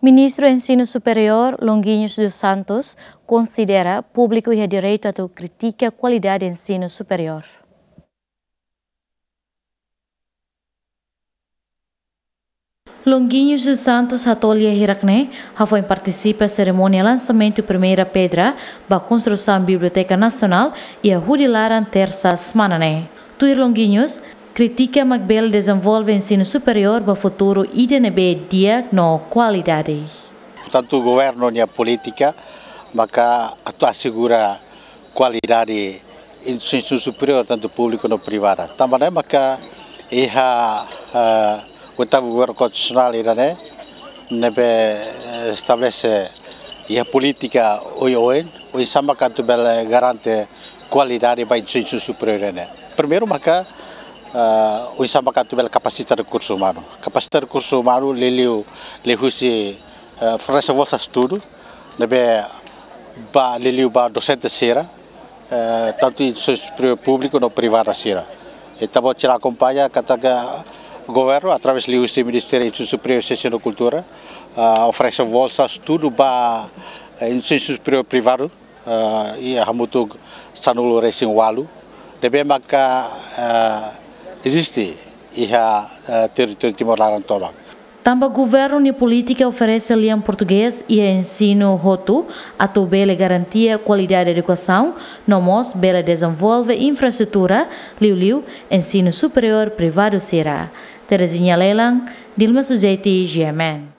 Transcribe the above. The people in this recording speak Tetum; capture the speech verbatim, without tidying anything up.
Ministru Ensinu Superiór, Longuinhos dos Santos, konsidera públiku iha direitu atu kritika kualidade ensinu superiór. Longuinhos dos Santos hato'o lia hirak ne'e, hafoin partisipa serimónia lansamentu primeira pedra ba konstrusaun Biblioteka Nasionál iha Hudi Laran, tersa semana ne'e. Tuir Longuinhos, kritika mak bele dezenvolve ensinu superiór ba futuru ida ne'ebé di'ak no kualidade. Portantu, governu nia polítika maka atu asegura kualidade ensinu superiór, tantu públiku no privada. Tanba ne'e maka iha, eh, oitavu governu konstitusionál ida-ne'e, ne'ebé, eh, estabelese iha polítika oioin, oinsá maka atu bele garante kualidade ba ensinu superiór ne'e. Primeiru maka, eh, oinsá maka atu bele kapasita rekursu umanu. Kapasita rekursu umanu liuliu liuhusi, eh, fornese bolsa estudu, ne'ebé ba liuliu ba dosente sira, eh, tantu instituisaun públiku no privada sira. Ita-boot sira akompaña katak governu através liuhusi Ministériu Ensinu Superiór, Siénsia no Kultura, ah, oferese bolsa estudu ba, eh, ensinu superiór privadu, ah, iha hamutuk sanulu-resin-ualu, ne'ebé maka, ah, eziste iha, ah, territóriu Timor laran tomak. Tanba governu nia polítika oferese lian portugés iha ensinu hotu atu bele garantia kualidade edukasaun, no mós bele dezenvolve infraestrutura, liuliu ensinu superiór privadu sira. Terezinha Lelang, Dilma Sujeti, G M N.